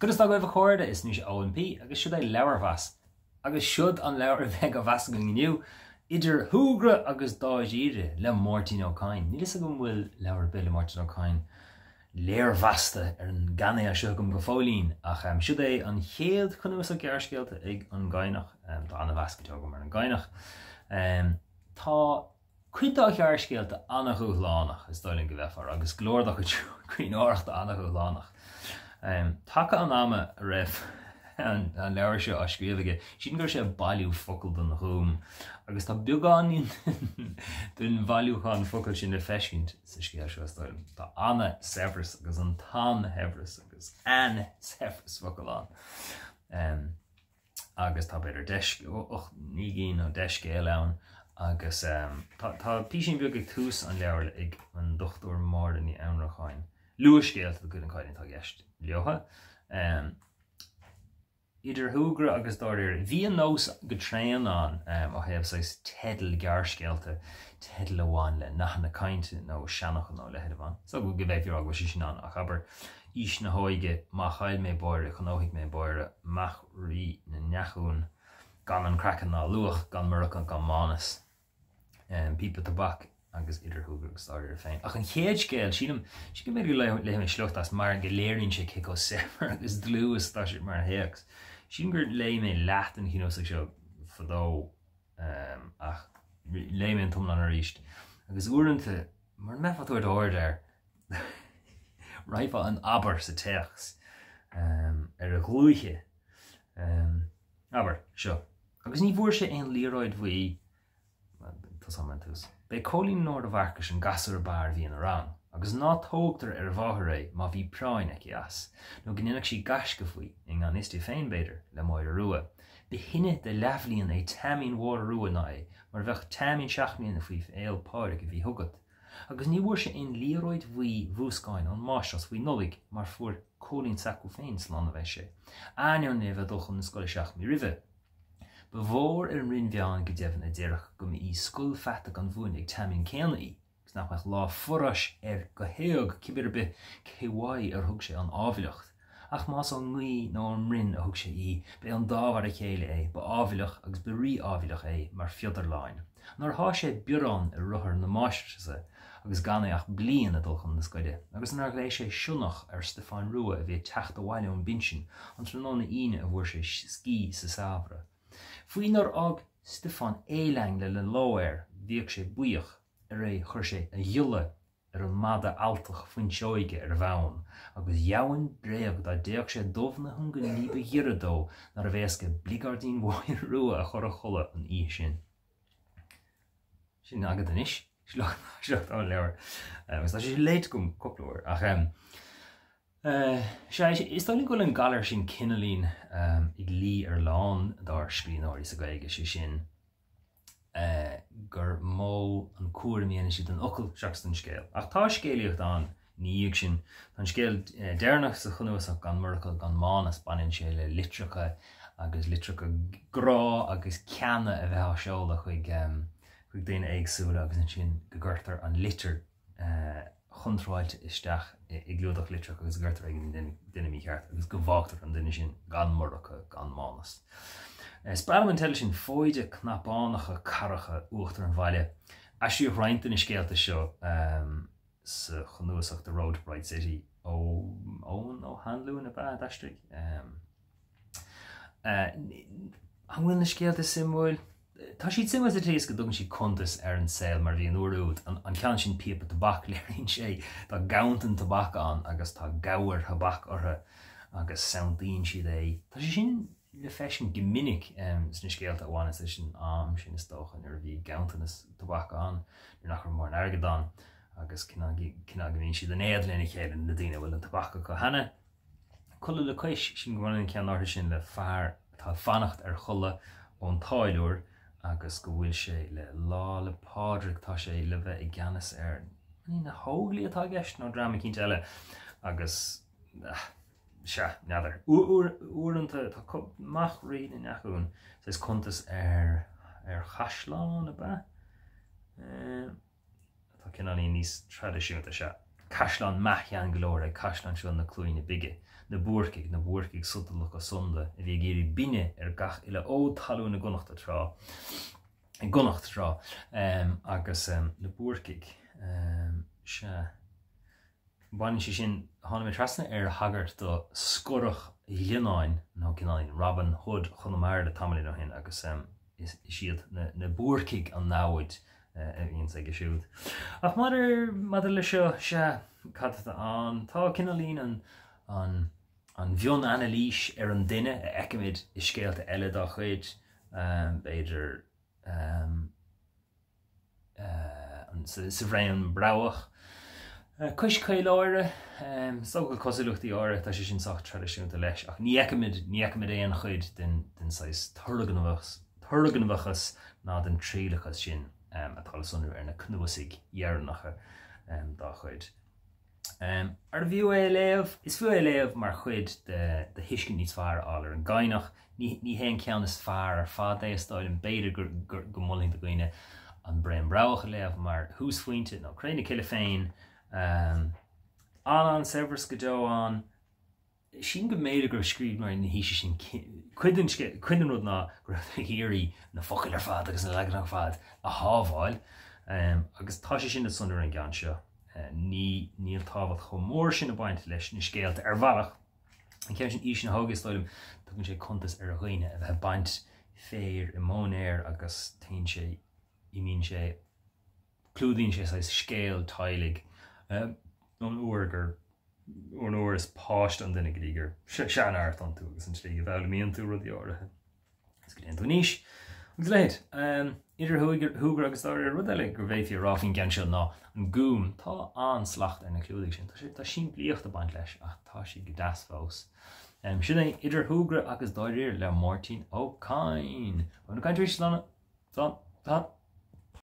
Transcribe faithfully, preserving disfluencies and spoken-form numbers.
Conas tá agaibh a chairde is mise Eoin P agus siod é Leabharmheas. Agus siod an leabhar a bheidh á mheas againn inniu, Idir Shúgradh agus Dáiríre le Máirtín Ó Cadhain. Níl fhios agam an bhfuil leabhar ar bith le Máirtín Ó Cadhain léirmheasta ar an gcainéal seo agam go fóillín, ach siod é an chéad chnuasach gearrscéalta ag an gCadhnach. Tá an-mheas go deo agam ar an gCadhnach. Tá Cuid dá ghearrscéalta an-dhúshlánach, is dóigh liom go mbeifeá a rá, agus go leor dá chuid scríbhneoireachta an-dhúshlánach. Taca an ama a raibh an leabhar seo á scríobh aige, sílim go raibh sé ag bailiú focal don Ghúm, agus tá beagáinín den bhailiúchán focal sin le feiscint sa scéal seo, is dóigh liom. Tá an-saibhreas agus an t-an-shaibhreas agus an-saibhreas focal ann. Agus tá b'fhéidir deich, ocht, naoi gcinn nó deich scéal ann. Agus tá písín beag ag tús an leabhair ag an Dochtúir Máire Ní Annracháin. Luathscéalta de chuid an Chadhnaigh atá i gceist leotha. Idir shúgradh agus dáiríre. Bhí an nós go tréan ann ó thaobh saghas teidil gearrscéalta, teidil a bhain le nathanna cainte nó seanfhocail nó a leithéid a bhain. Is dócha go bhféadfaí a rá go bhfuil sé sin ann ach abair, Aois na hóige, Má chaill mé báire, gnóthaigh mé báire, Mac Rí na nDeachún. Gan an craiceann ná luach, gan Murchadh gan Mánas, píopa tobac agus idir shúgradh agus dáiríre féin. Ach an chéad scéal, sílim, sílim go mb'fhéidir go léifidh mé sliocht as mar go léiríonn sé cé chomh saibhir agus dlúth is atá sé mar théacs. Sílim gur léigh mé leath den chnuasach seo fadó ach léigh mé an t-iomlán arís agus uaireanta, mura mbeifeá ag tabhairt aird air, raghfá in abar sa téacs ar a dhlúithe. Abair, seo. Agus ní bhfuair sé aon liathróid bhuí, tosóidh mé ón tús. B'é Cóilín Nóra Mharcais an gasúr ab fhearr a bhí ina rang, agus ná tógtar ar a mháthair é má bhí práinn aici as, nó go ndéanfadh sí gaisce faoi, i ngan fhios di féin, b'fhéidir, le Máire Rua. Ba shine de leathbhliain é Teaimín Mháire Rua ná é, mar a bheadh Teaimín seacht mbliana faoi Fhéil Pádraig a bhí chugat. Agus ní bhfuair sé aon liathróid bhuí mhúscáin ón máistreás faoi Nollaig mar fuair Cóilín s'acu féin slán a bheith sé, ainneoin é a bheith ag dul chun na scoile seacht mí roimhe. Ba mhór ar an Rinn Mheáin go deimhin a déarfadh go mba í scoil pheata gan mhúineadh ag Teaimín céanna í agus nach mbeadh lá foráis air go héag cibé ar bith cé uaidh ar thug sé an ábhailleacht. Ach más ón ngaoth nó ón mbroinn a thug sé í, b'é an dá mhar a chéile é, ba ábhailleach agus ba rí-ábhailleach é mar phiodarláin. Nár sháigh sé biorán i rothar na máistreasa agus gan é ach bliain ag dul chun na scoile, agus nár ghlaoigh sé sionnach ar Stiofán Rua a bhí ag teacht abhaile ón bpinsean an tráthnóna Aoine a bhfuair sé scíth sa samhradh. Faoi nár fhág Stiofán éalang lena ló air, bhíodh sé buíoch, arae chuir sé a ghiolla ar an mada alltach fuinseoige ar a bhonn, agus dheamhan bréag dá dtéadh sé dubh na hiongan ní ba ghiorra dó nárbh éasca bligeairdín Mháire Rua a chur a chodladh an oíche sin. Sin agat anois, sliocht ón leabhar. Agus tá sé léite agam cúpla uair, ach sea, is dóigh liom go bhfuil an galar sin cineáilín ag luí ar a lán dár scríbhneoirí sa Ghaeilge, sé sin, gur mó an cúram a dhéanann siad den fhocal seachas den scéal. Ach tá scéalaíocht ann ina dhiaidh sin. Tá an scéal deireanach sa chnuasach, Gan Murchadh Gan Mánas, baineann sé le litreacha agus litreacha grá agus ceana a bheith á seoladh chuig chuig daoine éagsúla agus ansin go gcuirtear an litir chontráilte isteach i gclúdach litreach agus go gcuirtear ag an duine mícheart agus go bhfágtar an duine sin gan Murchadh gan Mánas. Is breá liom an teideal sin, Foighde Cnapánacha Carracha Uachtar an Bhaile. Aistríodh roinnt de na scéalta seo sa chnuasach The Road to Bright City ó Eoin Ó hAnluain ab ea a d'aistrigh. An bhfuil na scéalta suimiúil? Tá siad suimiúil sa tslí is go dtugann siad cuntas ar an saol mar a bhí an uair úd. An ceann sin Píopa Tobac, léiríonn sé tá ganntan tobac ann agus tá gabhair thobac orthu agus santaíonn siad é. Tá sé sin le feiscint go minic sna scéalta a bhaineas leis an am sin is dócha, nuair a bhí ganntanas tobac ann, nuair nach raibh mórán airgid ann agus cineál go mbíonn siad in éadan lena chéile, na daoine a bhfuil an tobac acu cheana. Codladh le Cois, sílim go mbaineann an ceann áirithe sin le fear atá ag fanacht ar chodladh ón táilliúir agus go bhfuil sé le Lá 'le Pádraig, tá sé le bheith i gceannas ar, an na hÓglaigh atá i gceist nó dream eicínt eile agus sea, n'fheadar. Uaireanta tá Mac Rí na nDeachún, saghas cuntas ar ar chaisleán ab ea? Atá cineáilín níos traidisiúnta, sea. Caisleán meath-shean go leor é caisleán seo na Cluaine Bige. Na Búrcaigh, na Búrcaigh sotalacha sonda a bhí ag iarraidh binne ar gach uile fhód talún i gConnacht tráth, i gConnacht tráth, agus na Búrcaigh, sea. Baineann sé sin, tháinig mé trasna ar thagairt do Scorach Ghlionnáin, nó cineáilín Robin Hood Chonamara le tamaillín ó shin agus is iad na Búrcaigh an namhaid a bhíonns aige siúd. Ach maidir, maidir le seo, sea, cad atá ann? Tá cineáilín an, an, an mhionanailís ar an duine a fheicimid i scéalta eile dá chuid, b'fhéidir, sa Bhraon Broghach. Cois Caoláire, is dócha go bhfuil cosúlachtaí áirithe, tá sé sin sách traidisiúnta leis, ach ní fheicimid, ní fheicimid aon chuid den, den saghas turgnamhachas, turgnamhachas ná den trialachas sin atá le sonrú ar na cnuasaigh dheireanacha dá chuid. Arbh fhiú é a léamh? Is fiú é a léamh mar chuid de de thuiscint níos fearr a fháil ar an gCadhnach. Ní ní hé an ceann is fearr ar fad é, is dóigh liom. B'fhéidir gur gur go molfainn do dhaoine An Braon Broghach a léamh mar thúsphointe, nó Cré na Cille féin. An-an-saibhreas go deo ann. Sílim go mb'fhéidir go raibh scríbhneoirí na haoise sin cuid den cuid den rud ná go raibh ag iarraidh na focail ar fad agus na leaganacha ar fad a shábháil agus tá sé sin le sonrú ar an gceann seo. Ní níl tábhacht chomh mór sin ag baint leis na scéalta ar bhealach. An ceann sin Aois na hÓige is dóigh liom, tugann sé cuntas ar dhaoine a bheith ag baint féir i móinéar agus téann sé, imíonn sé, clúdaíonn sé saghas scéal teaghlaigh ón uair gur, ón uair is páiste an duine go dtí gur seanfhear atá iontu agus an tslí go bhfoghlaimíonn tú rudaí áirithe. Is go dtéann tú in aois agus a leithéid. Idir shúgradh agus dáiríre, rud eile go bhféadfaí a rá faoin gceann seo ná an Gúm. Tá an-slacht ar na clúdaigh sin. Tá sé, tá simplíocht ag baint leis ach tá siad go deas fós. Sin é Idir shúgradh agus dáiríre le Máirtín Ó Cadhain. Beimid ag caint arís, slán, slán, slán.